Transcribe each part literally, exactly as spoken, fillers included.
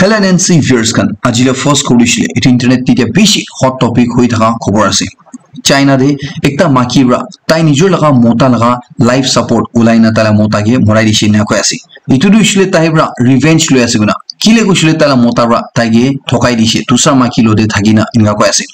Hello N N C viewers khan, aji la first khobor hoishe, etu internet te etia bishi hot topic hoi thaka khobor ase. China te ekta maiki para tai nijor laga mota laga life support ulai na tai la mota ke morai dishe ena koi ase. Etu tu hoishe tai para revenge loi ase koina. Kile koishe tai la mota para tai ke thokai dishe, dusra maiki lo te thaki na enka koi ase.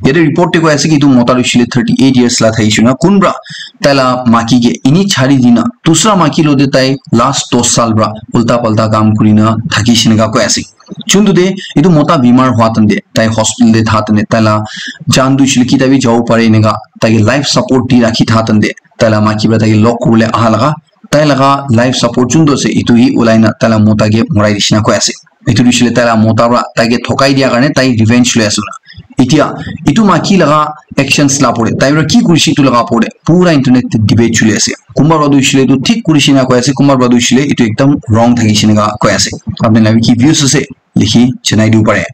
Yate report te koi ase ki etu mota tu hoishe thirty eight years la thakishe na, kun para tai la maiki ke eni chari dina dusra maiki lo te tai last dos saal para ulta palta kam kuri na thakishe enka koi ase. Chuntu te etu mota bimar hua tan te, tai hospital te tha tan te, tai la jaan tu hoishe kita bi jabo pare enka tai ke life support di rakhi tha tan te, tai la maiki para tai ke log kuribole aha laga, tai laga life support chuntu ase etu hi ulai na tai la mota ke morai dishe na koi ase. Etu tu hoishe tai la mota para tai ke thokai dia karne tai revenge loi ase na. Etia etu maiki laga actions la pore, tai para ki kurishe etu laga pore pura internet te debate choli ase. Kunba para tu hoishe etu thik kurishe ena koi ase, kunba para tu hoishe etu ekdam wrong thakishe enka koi ase. Apni laga ki views ase likhi janai dibo pare.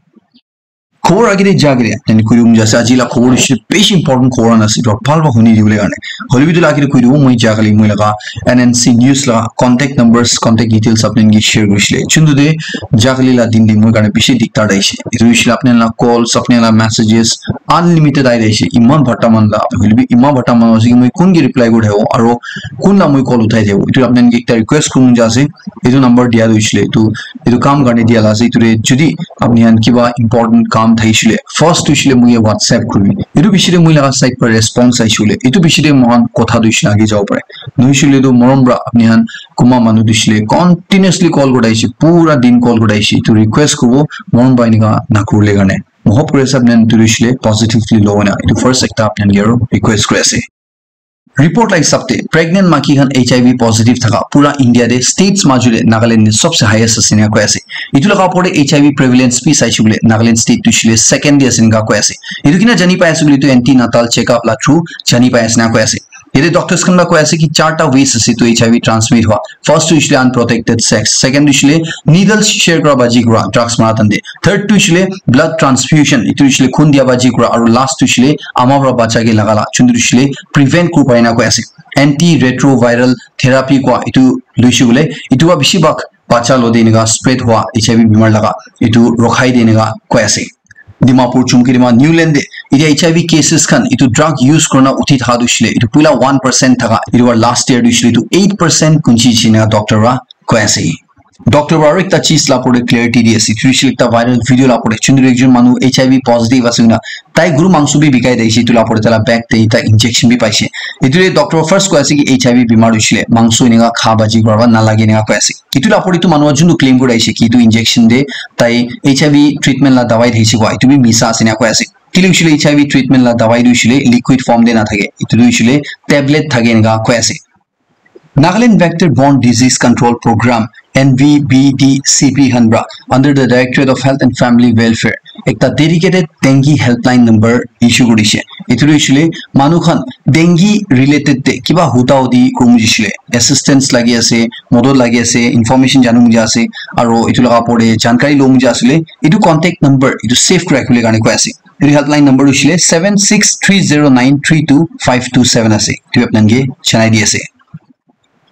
Khobor age te ja kere tani koi dibo mon jai ase, aji la khobor hoishe bishi important khobor khan ase, to bhal para huni dibole karne. Hoile bi etu la age te koi dibo moi ja kali moi laga N N C news la contact numbers, contact details apni khan ke share kurishe. Chuntu te ja kali la din te moi karne bishi diktar ahishe. Etu hoishe apni khan la calls, apni khan la messages unlimited ahi ahishe. Iman bhata man la, hoile bi iman bhata man ase ki moi kun ke reply kuri thakibo, aro kun la moi call uthai thakibo. Etu apni khan ke ekta request kuribo mon jai ase. Etu number dia tu hoishe etu, etu kam karne dia la ase. Etu te jodi apni khan kiba important kam thakishe first tu hoishe moi ke WhatsApp kuribi. Etu piche te moi laga side para response ahishe, etu piche te moi khan kotha tu hoishe age jabo pare. Nohoishe tu morom para apni khan kunba manu tu hoishe continuously call kuri ahishe, pura din call kuri ahishe. Etu request kuribo morom para enka na kuribole karne. Moi hope kuri ase apni khan etu tu hoishe positively lobo na. Etu first ekta apni khan ke aro request kuri ase. Report la hisab te pregnant maiki khan H I V positive thaka pura India te states majot te Nagaland te sobse highest ase ena koi ase. Etu laga opor te H I V prevalence bi saishe koile Nagaland state tu hoishe second te ase ena koi ase. Etu kina jani pai ase koile etu antenatal checkup la through jani pai ase ena koi ase. Yate doctors khan para koi ase ki charta ways ase etu H I V transmit hua. First tu hoishe unprotected sex, second tu hoishe needles share kura baji kura drugs mara tan te, third tu hoishe blood transfusion, etu hoishe khun dia baji kura, aru last tu hoishe ama para bacha ke laga la, chuntu hoishe prevent kuri pai ena koi ase. Antiretroviral therapy kua etu loishe koile, etu para bishi bhag bacha lo te eneka spread hua H I V bimar laga etu rokhai de eneka koi ase. Dimapur, Chumkedima, Niuland te etia H I V cases khan etu drug use kurina uthi thaka tu hoishe etu puila one percent thaka, etu para last year tu hoishe etu eight percent kunchi jishe eneka doctor para koi ase. Doctor para aru ekta cheez la opor te clarity di ase, etu hoishe ekta viral video la opor te, chuntu ekjon manu H I V positive ase koina tai guru mangso bi bikai thakishe, etu la opor te tai la bag te ekta injection bi paishe. Etu te doctor first koi ase ki H I V bimar hoishe mangso eneka kha baji kura nalage eneka koi ase. Etu la opor te etu manu para juntu claim kuri ahishe ki etu injection te tai H I V treatment la dawai thakishe koa, etu bi misa ase ena koi ase. Kile hoishe H I V treatment la dawai tu hoishe liquid form te na thake, etu tu hoishe tablet thake ena koi ase. Nagaland Vector Borne Disease Control Program, N V B D C P khan para under the Directorate of Health and Family Welfare ekta dedicated dengue helpline number issue kuri dishe. Etu tu hoishe manu khan dengue related te kiba huda hudi kuribo mon jaishe, assistance lagi ase, modot lagi ase, information janibo mon jai ase, aru etu laga opor te jankari lobo mon jai ase koile, etu contact number etu save kuri rakhibole karne koi ase. Etu helpline number tu hoishe seven six three zero nine three two five two seven ase. Etu apni khan ke janai di ase.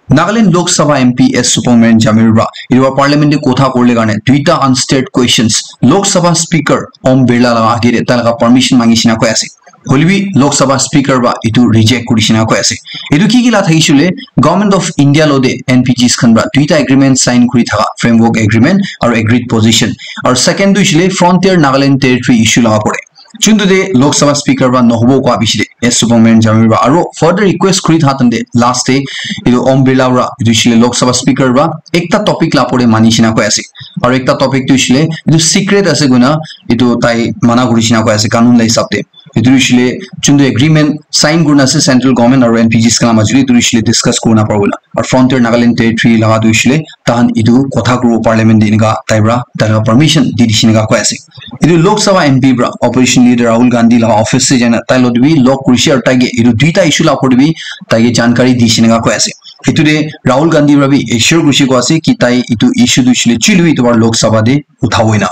Nagaland Lok Sabha M P S Supongmeren Jamir para etu para parliament te kotha kuribole karne duita unstate questions Lok Sabha Speaker Om Birla laga age te tai laga permission mangishe ena koi ase. Hoile bi Lok Sabha Speaker para etu reject kuri dishe ena koi ase. Etu ki ki la thakishe koile, Government of India lo te N P Gs khan para duita agreement sign kuri thaka, framework agreement aru agreed position, aru second tu hoishe frontier Nagaland territory issue laga pore. Chuntu te Lok Sabha Speaker para nohobo koa bishi te S Supongmeren Jamir para aru further request kuri tha tante last te etu Om Birla para etu hoishe Lok Sabha Speaker para ekta topic la pore mani shina koi ase. Aru ekta topic tu hoishe etu secret ase koina etu tai mana kuri shina koi ase kanun la hisab te. Etu hoishe chuntu agreement sign kurina ase central government aru N P Gs khan la majuli, etu hoishe discuss kurina paribo na. Aru frontier Nagaland territory laga tu hoishe tahan etu kotha kuribo parliament te enika tai para tai laga permission di dishi enika koi ase. Etu Lok Sabha M P para opposition leader Rahul Gandhi laga office te jaina tai logot bi log kurishe aru tai ke etu duita issue la opor te bi tai ke jankari dishi enika koi ase. Etu te Rahul Gandhi para bi assure kurishe koi ase ki tai etu issue tu hoishe chuile bi etu para Lok Sabha te uthabo ena.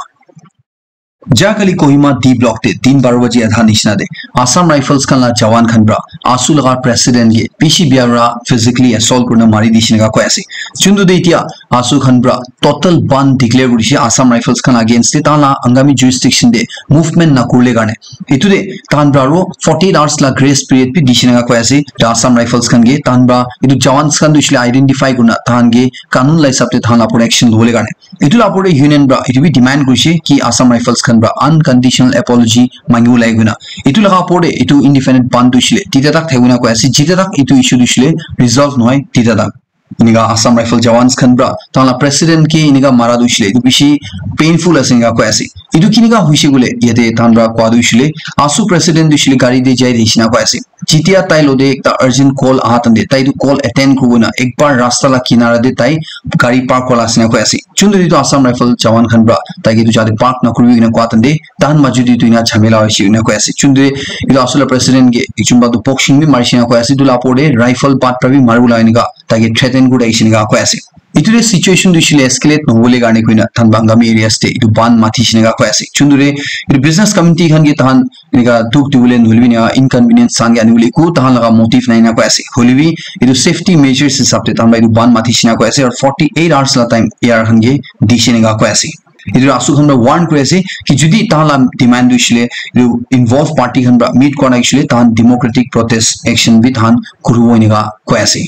Jahakali Kohima D block te din baro baji adha nishina te Assam Rifles khan la jawan khan pra ASU laga president ke bishi bia pra physically assault kurina mari dishi naka koi ase. Chuntu te itia ASU khan pra total ban declare kurishe Assam Rifles khan against te, tahan la Angami jurisdiction te movement nakurle karne. Etu te tahan pra aro forty-eight hours la grace period bi dishi naka koi ase. Ta Assam Rifles khan ke tahan pra etu jawans khan tu ishile identify kurina tahan ke kanun la hisab te tahan la opor action lobole karne. Etu la opor te union pra etu bi demand kurishe ki Assam Rifles khan pra unconditional apology mangibo lage koina. Etu laga opor te etu indefinite ban tu ishile tita tak thakibole koi ase, jita tak etu issue tu ishile resolve nohoi tita tak. Enika Assam Rifle jawans khan pra tahan la president ke enika mara tu ishile etu bishi painful ase enika koi ase. Etu kinika hoishe koile yate tahan pra koa tu ishile ASU president tu ishile gari te jai dishi na koi ase. Jitia tai lo te ekta urgent call aha tante tai tu call attend kuribole na ekbar rasta la kinara te tai gari park kurila ase na koi ase. Chuntu etu Assam Rifle jawan khan pra tai ke etu jate park nakuribi ena koa tante tahan maju te etu ena jhamela hoishe ena koi ase. Chuntu etu ASU la president ke ekjon ba tu boxing bi marishe na koi ase. Etu la opor te rifle bat pra bi maribole enika tai ke threaten kuri ahishe enika koi ase. Etu te situation tu ishile escalate nobole karne koina tahan Angami areas te etu ban matishe enika koi ase. Chuntu etu business community khan ke tahan enika dukh dibole nohoilebi enika inconvenience tahan ke anibole eku tahan laga motive nai enika koi ase. Hoilebi etu safety measures hisab te tahan para etu ban matishe enika koi ase aru forty-eight hours la time A R khan ke dishe enika koi ase. Etu ASU khan para warn kuri ase ki jodi tahan la demand tu ishile etu involved party khan para meet kora nai ishile tahan democratic protest action bi tahan kuribo enika koi ase.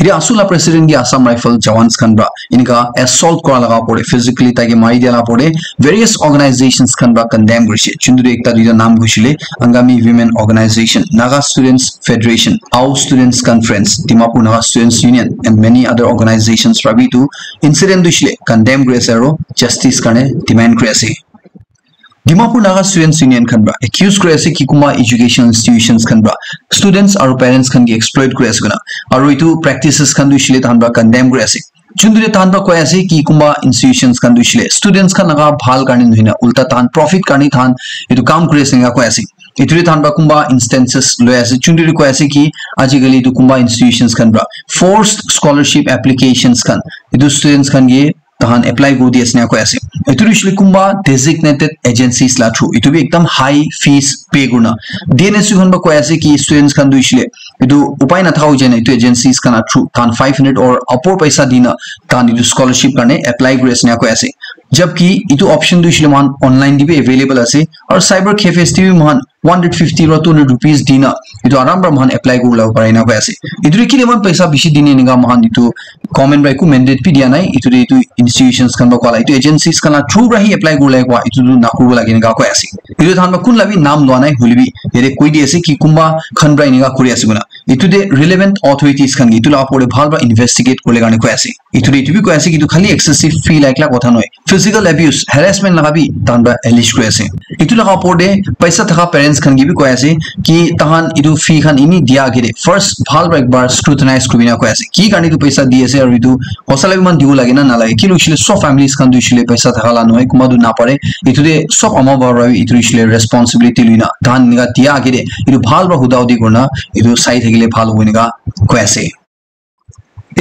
Etu ASU la president ke Assam Rifle jawans khan para enika assault kora laga opor te, physically tai ke mari dia laga opor te various organizations khan para condemn kurishe. Chuntu ekta duita naam kuisile Angami Women Organization, Naga Students Federation, Ao Students Conference, Dimapur Naga Students Union and many other organizations para bi etu incident tu ishile condemn kuri ase aru justice karne demand kuri ase. Dimapur Naga Students Union khan para accuse kuri ase ki kunba education institutions khan para students aru parents khan ke exploit kuri ase koina. Aru etu practices khan tu ishile tahan para condemn kuri ase. Chuntu te tahan para koi ase ki kunba institutions khan tu ishile students khan laga bhal karne nohoi na ulta tahan profit karne tahan etu kam kuri ase enika koi ase. Etu te tahan para kunba instances loi ase. Chuntu te koi ase ki ajikali etu kunba institutions khan para forced scholarship applications khan etu students khan ke tahan apply kuri di ase enika koi ase. Etu tu ishile kunba designated agencies la through. Etu bi ekdam high fees pay kurina. D N S U khan para koi ase ki students khan tu ishile etu upai nathaka hoi jai na etu agencies khan la through tahan five hundred or upor paisa dina tahan etu scholarship karne apply kuri ase enika koi ase. Jabki etu option tu ishile moikhan online te bi available ase aru cyber cafes te bi moikhan one hundred fifty or two hundred rupees dina etu aram para moikhan apply kuribole pare enika koi ase. Etu te kile moikhan paisa bishi dine enika moikhan etu government para eku mandate bi dia nai. Etu te etu institutions khan para koa la, etu agencies khan la through para hi apply kuribole koa, etu tu nakuribo lage enika koi ase. Etu tahan para kun la bi naam lua nai hoilebi yate koi di ase ki kunba khan para enika kuri ase koina. Etu te relevant authorities khan ke etu la opor te bhal para investigate kuribole karne koi ase. Etu te etu bi koi ase ki etu khali excessive fee la ekla kotha nohoi. Physical abuse, harassment laga bi tahan para allege kuri ase. Etu laga opor te paisa thaka parents khan ke bi koi ase ki tahan etu fee khan eni dia age te first bhal para ekbar scrutinize kuri na koi ase. Ki karne etu paisa di ase aru etu hosa la bi eman dibo lage na nalage. Ki hoishe le sob families khan tu hoishe le paisa thaka la nohoi, kunba tu napare. Etu te sob ama baba para bi etu hoishe le responsibility loi na tahan enika dia age te etu bhal para huda hudi kuri na etu sai thakile bhal hobo enika koi ase.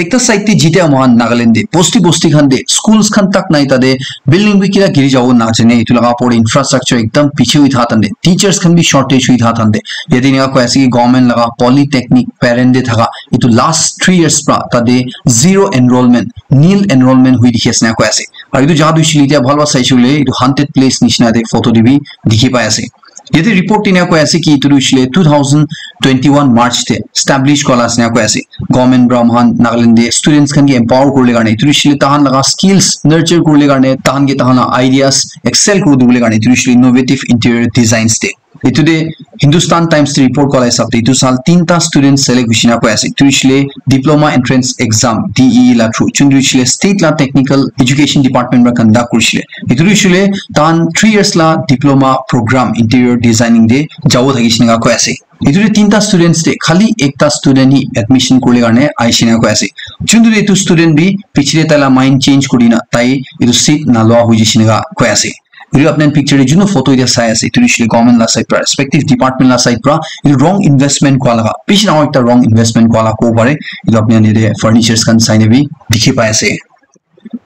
Ekta side te jitia moikhan Nagaland te bosti bosti khan te schools khan tak nai, tate building bi kila giri jabo najane, etu laga opor te infrastructure ekdam piche hoi tha tante, teachers khan bi shortage hoi tha tante, yate enika koi ase ki government laga polytechnic parent te thaka etu last three years pra tate zero enrollment, nil enrollment hoi dikhi ase na koi ase. Aru etu jaga tu hoishe le etia bhal para saishe koile etu haunted place nishina te photo te bi dikhi pai ase. Yate report te enika koi ase ki etu tu hoishe le two thousand twenty-one March te establish kura la ase enika koi ase. Government para moikhan Nagaland te students khan ke empower kuribole karne, etu tu hoishe le tahan laga skills nurture kuribole karne, tahan ke tahan laga ideas excel kuri dibole karne, etu tu hoishe le innovative interior designs te. Etu te Hindustan Times te report kura la hisab te etu saal tinta students select hoishe enika koi ase. Etu tu hoishe le Diploma Entrance Exam, D E E la through, chun tu hoishe le state la technical education department para conduct kurishe le. Etu tu hoishe le tahan three years la diploma program interior designing te jabo thakishe enika koi ase. Etu te tinta students te khali ekta student hi admission kuribole karne ahishe enika koi ase. Chun tu etu student bi piche te tai la mind change kuri na tai etu seat nalua hoi jaishe enika koi ase. Etu apni khan picture te junu photo etia sai ase, etu tu hoishe le government la side pra, respective department la side pra, etu wrong investment kura laga, bishi dangor ekta wrong investment kura laga kobo pare. Etu apni khan yate furnitures khan sai na bi dikhi pai ase.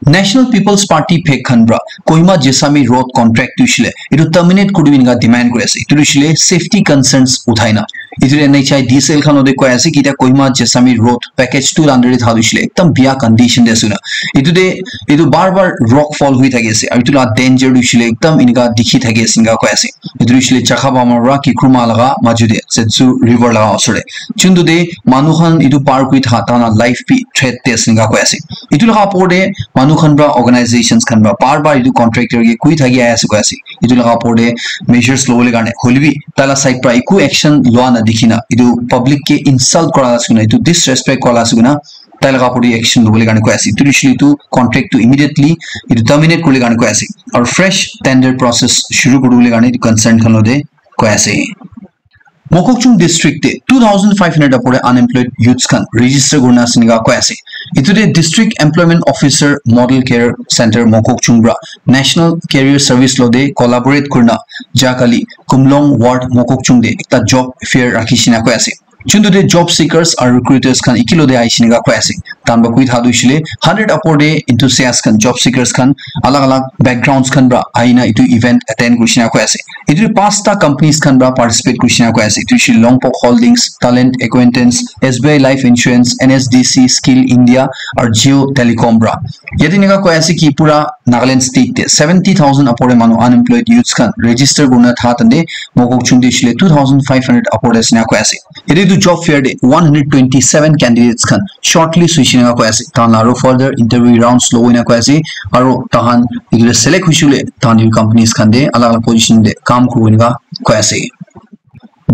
National People's Party phek khan pra Kohima Jessami road contract tu shile etu terminate kuri enka demand kuri ase. Etu shile safety concerns uthai na. Etu N H I D cell khan ode koi ase ki ta Kohima Jessami road package two under de thadu shile ekdam bia condition de ase na. Etu de etu bar bar rock fall hui thaki ase. Aru etu la danger tu shile ekdam enka dikhi thaki ase enka koi ase. Etu tu shile Chakhabama pra Kikruma laga maju de Setsu river laga osor de. Chuntu de manu khan etu par kuri thaka ta na life bi threat de ase enka koi ase. Etu laga opor de manu khan pra organizations khan pra bar bar etu contractor ke koi thaki ahi ase koi ase. Etu laga opor de measures lobole karne hoile bi tai la side pra eku action loa na dikhi na etu public ke insult kora la ase koina etu disrespect kora la ase koina tai laga opor de action lobole karne koi ase. Etu tu shile etu contract tu immediately etu terminate kuribole karne koi ase. Aru fresh tender process shuru kuribole karne etu concern khan lo de koi ase. Mokokchung district te two thousand five hundred apore unemployed youths khan register kurina ase enika koi ase. Etu te district employment officer model care center Mokokchung pra national career service lo te collaborate kurina jakali Kumlong ward Mokokchung te ekta job fair rakhi shina koi ase. Chuntu te job seekers aru recruiters khan ekilo te ahi shina koi ase. Tan ba kui thadu shile hundred apore te enthusiast khan job seekers khan alag alag backgrounds khan pra aina etu event attend kurishina koi ase. Etu pasta companies khan pra participate kurishina koi ase. Etu shile Longpok Holdings, Talent Acquaintance, S B I Life Insurance, N S D C, Skill India, aru Jio Telecom pra. Yate enika koi ase ki pura Nagaland state te seventy thousand apore manu unemployed youths khan register kurina tha tande Mokokchung te shile two thousand five hundred apore ase enika koi ase. Yate etu job fair te one hundred twenty-seven candidates khan shortlist hoishe enika koi ase. Tahan la aru further interview rounds lobo enika koi ase. Aru tahan etu te select hoishe koile tahan etu companies khan te alag alag position te kam kuribo enika koi ase.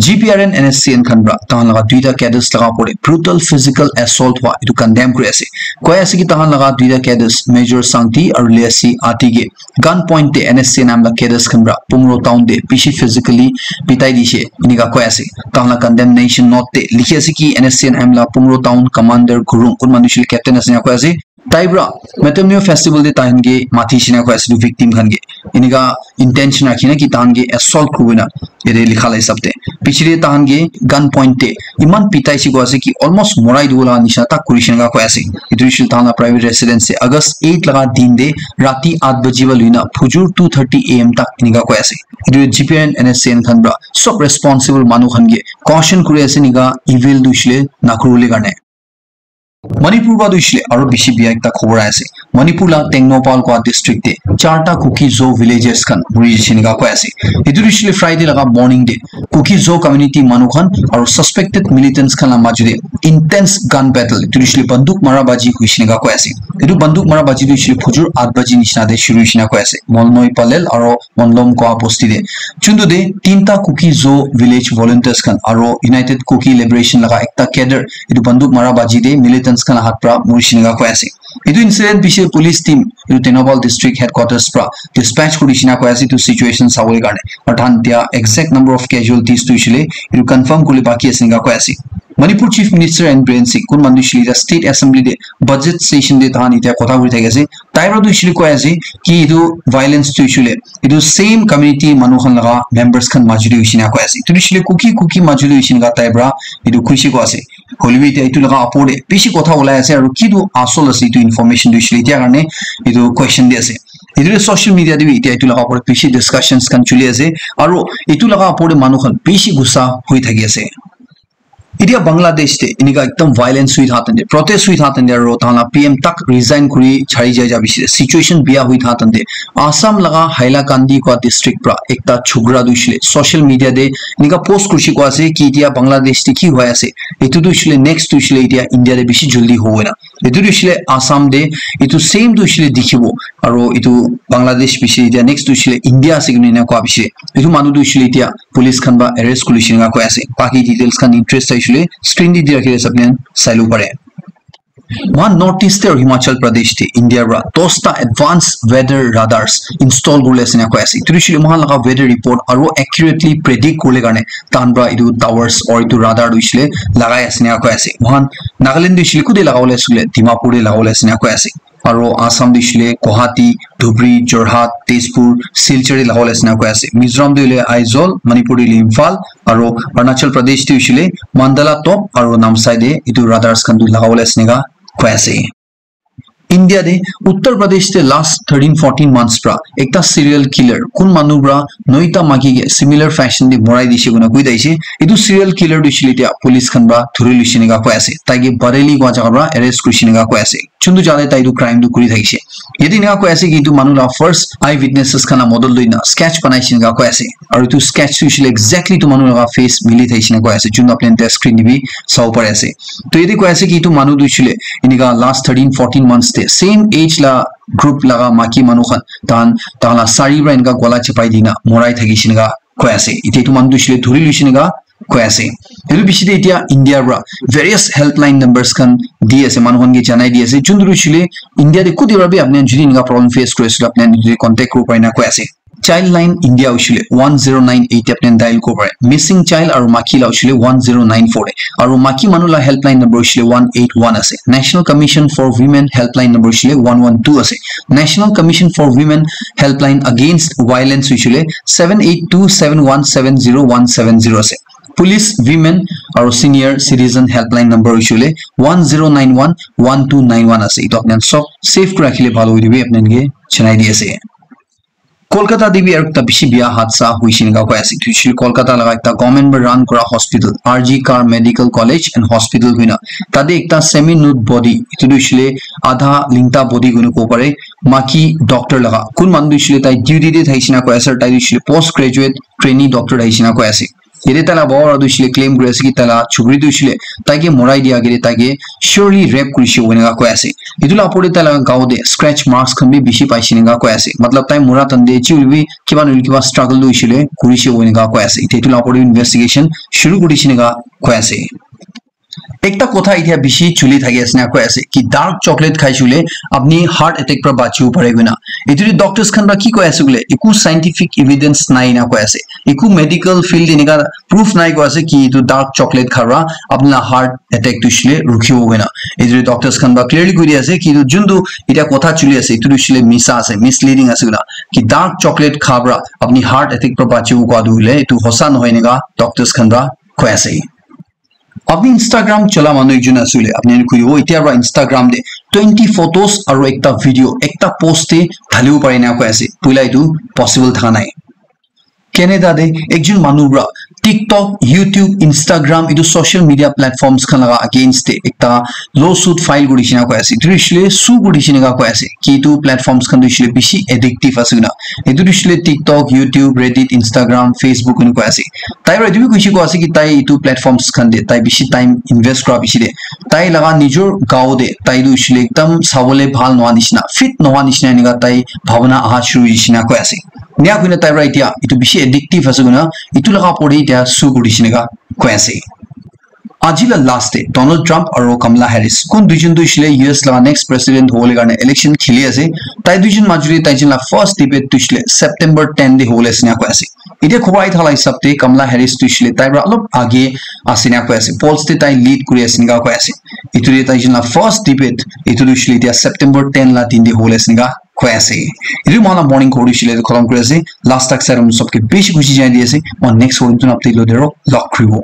G P R N N S C N khan pra tahan laga duita cadres laga opor te brutal physical assault hua etu condemn kuri ase. Koi ase ki tahan laga duita cadres Major Sangti aru Lesi Ati ke gun point te N S C N M la cadres khan pra Pungro town te bishi physically pitai dishe enika koi ase. Tahan la condemnation note te likhi ase ki N S C N M la Pungro town commander Gurung kun manu shil captain ase enika koi ase. Tai pra Metemneo festival te tahan ke mati shina koi ase etu victim khan ke enika intention rakhi na ki tahan ke assault kurina ete likha la hisab te piche te tahan ke gun point te iman pitai shi koi ase ki almost morai dibo la nisha tak kuri shina koi ase. Etu shil tahan la private residence te August eight laga din te rati eight baji ba luina phujur two thirty A M tak enika koi ase. Etu G P R N N S C N khan pra sob responsible manu khan ke caution kuri ase enika evil tu shile na kuribole karne. Manipur ba tu shile aru bishi bia ekta khobor ahi ase. Manipur la Tengnoupal koi district te charta Kuki-Zo villages khan muri jishe enika koi ase. Etu tu shile Friday laga morning te Kuki-Zo community manu khan aru suspected militants khan la maju te intense gun battle etu tu shile banduk mara baji hoishe enika koi ase. Etu banduk mara baji tu shile phujur eight baji nishina te shuru hoishe enika koi ase. Molnoi Palel aru Monlom koi bosti te. Chuntu te tinta Kuki-Zo village volunteers khan aru United Kuki Liberation laga ekta cadre etu banduk mara baji te militants khan la hat pra murishe enika koi ase. Etu incident piche police team etu Tengnoupal district headquarters pra dispatch kuri shina koi ase etu situation sabole karne. Aru tahan dia exact number of casualties tu shile etu confirm kuribole baki ase enika koi ase. Manipur Chief Minister N Biren Singh kun manu shile state assembly te budget session te tahan etia kotha kuri thaki ase. Tai pra tu shile koi ase ki etu violence tu shile etu same community manu khan laga members khan maju te hoishe enika koi ase. Etu tu shile Kuki Kuki maju te hoishe enika tai pra etu khushi koi ase. Hoile bi etia etu laga opor te bishi kotha ulai ase aru ki tu asol ase etu information tu shile etia karne etu question de ase. Etu tu social media te bi etia etu laga opor te bishi discussions khan chuli ase aru etu laga opor te manu khan bishi gussa hoi thaki ase. Etia Bangladesh te enika ekdam violence hui tha tande, protest hui tha tande aru tahan la P M tak resign kuri chari jai ja bishi situation bia hui tha tande Assam laga Hailakandi koi district pra ekta chokra tu shile social media te enika post kurishi koi ase ki etia Bangladesh te ki hoi ase, etu tu shile next tu shile etia India te bishi jaldi hobo na. Etu tu shile Assam te etu same tu shile dikhibo aru etu Bangladesh bishi etia next tu shile India ase koi na koi bishi etu manu tu shile etia police khan ba arrest kuri shina koi ase. Baki details khan interest aishile screen te di rakhi ase apni khan sai lo pare. Mohan North East te aru Himachal Pradesh te India ra dosta advanced weather radars install kuribole ase na koi ase. Etu shile mohan laga weather report aru accurately predict kuribole karne tahan pra etu towers or etu radar tu shile lagai ase na koi ase. Mohan Nagaland tu shile kute lagabole ase koile Dimapur te lagabole ase na koi ase. Aru Assam tu shile Guwahati, Dhubri, Jorhat, Tezpur, Silchar te lagabole ase na koi ase. Mizoram tu hoile Aizawl, Manipur tu hoile Imphal, aru Arunachal Pradesh tu hoile Mandala Top aru Namsai te etu radars khan tu lagabole ase enika koi ase. India te Uttar Pradesh te last thirteen fourteen months pra ekta serial killer kun manu pra noita maki ke similar fashion te morai dise koina koi thakise. Etu serial killer tu hoishe le tia police khan pra dhuri loishe neka koi ase. Tai ke Bareilly kua jaga pra arrest kurishe neka koi ase. Chuntu jale tai tu crime tu kuri thakishe. Yate eneka koi ase ki etu manu la first eye witnesses khan la model loina sketch banai shina koi ase. Aru etu sketch tu hoishe le exactly etu manu laga face mili thakishe na koi ase. Chuntu apni khan screen te bi sabo pari ase. To yate koi ase ki etu manu tu hoishe le eneka last thirteen fourteen months te same age la group laga maki manu khan tahan tahan la sari pra eneka gola chapai dina morai thakishe neka koi ase. Ite etu manu tu hoishe le dhuri loishe neka koi ase. Etu bishi te etia India pra various helpline numbers khan di ase, manu khan ke janai di ase. Chuntu hoishe le India te kuti pra bi apni khan jodi eneka problem face kuri ase, apni khan etu te contact kuri pare na koi ase. Childline India hoishe le one zero nine eight te apni khan dial kuri pare. Missing child aru maki la hoishe le one zero nine four te. Aru maki manu la helpline number hoishe le one eight one ase. National Commission for Women helpline number hoishe le one one two ase. National Commission for Women helpline against violence hoishe le seven eight two seven one seven zero one seven zero ase. Police, women aru senior citizen helpline number hoishe le one zero nine one one two nine one ase. Etu apni khan sob save kuri rakhile bhal hoibo, apni khan ke janai di ase. Kolkata te bi aru ekta bishi biya hadsa hoishe neka koi ase. Etu hoishe le Kolkata laga ekta government para run kura hospital, R G Kar Medical College and Hospital koina. Tate ekta semi nude body, etu tu hoishe le adha lingta body koina kobo pare. Maki doctor laga. Kun manu tu hoishe le tai duty te thakishe na koi ase, tai tu hoishe le post graduate trainee doctor thakishe na koi ase. Yate taila baba para tu hoishe le claim kuri ase ki taila chukri tu hoishe le taike morai dia agete taike surely rape kurishe koina koi ase. Etu la opor te taila gao te scratch marks khan bi bishi paishe neka koi ase. Matlab tai mura time te ji hoile bi kiba nohoile kiba struggle tu hoishe le kurishe koina koi ase. Etu la opor te investigation shuru kurishe neka koi ase. Ekta kotha etia bishi chuli thaki ase na koi ase ki dark chocolate khaishe koile apni heart attack para bachibo pare koina. Etu te doctors khan para ki koi ase koile eku scientific evidence nai na koi ase. Eku medical field enika proof nai koi ase ki etu dark chocolate kha para apni la heart attack tu hoishe le rukhibo koina. Etu te doctors khan para clearly koi di ase ki etu juntu etia kotha chuli ase etu tu hoishe le misa ase, misleading ase koina. Ki dark chocolate kha para apni heart attack para bachibo koa tu hoile etu hosa nohoi enika doctors khan para koi ase. Apni Instagram chola manu ekjon ase koile, apni khan koi dibo, etia para Instagram te twenty photos aru ekta video, ekta post te dhalibo pare na koi ase. Poila etu possible thaka nai. Canada te ekjon manu para TikTok, YouTube, Instagram, etu social media platforms khan laga against te ekta lawsuit file kuri shina koi ase. Etu hoishe le sue kuri shina koi ase. Ki etu platforms khan tu hoishe le bishi addictive ase koina. Etu tu hoishe le TikTok, YouTube, Reddit, Instagram, Facebook enika ase. Tai para etu bi koishe koi ase ki tai etu platforms khan te tai bishi time invest kura bishi te tai laga nijor gao te tai tu hoishe le ekdam sabole bhal nohoa nishina, fit nohoa nishina enika tai bhabana aha shuru hoishe na koi ase. Enia koina tai para etia etu bishi addictive ase koina etu laga opor te etia sue kuri shina koi ase. Aji la last te Donald Trump aru Kamala Harris kun duijon tu hoishe le U S laga next president hobole karne election kheli ase. Tai duijon majot te tai jon la first debate tu hoishe le September ten te hobole ase ena koi ase. Etia khobor ahi thala hisab te Kamala Harris tu hoishe le tai para olop age ase ena koi ase. Polls te tai lead kuri ase ena koi ase. Etu te tai jon la first debate etu tu hoishe le etia September ten la din te hobole ase ena koi ase. Etu moi la morning khobor tu hoishe le khotom kuri ase. Last tak sai ram sob ke bishi khushi janai di ase. Moi next khobor tu update lo de ro log kuri bo.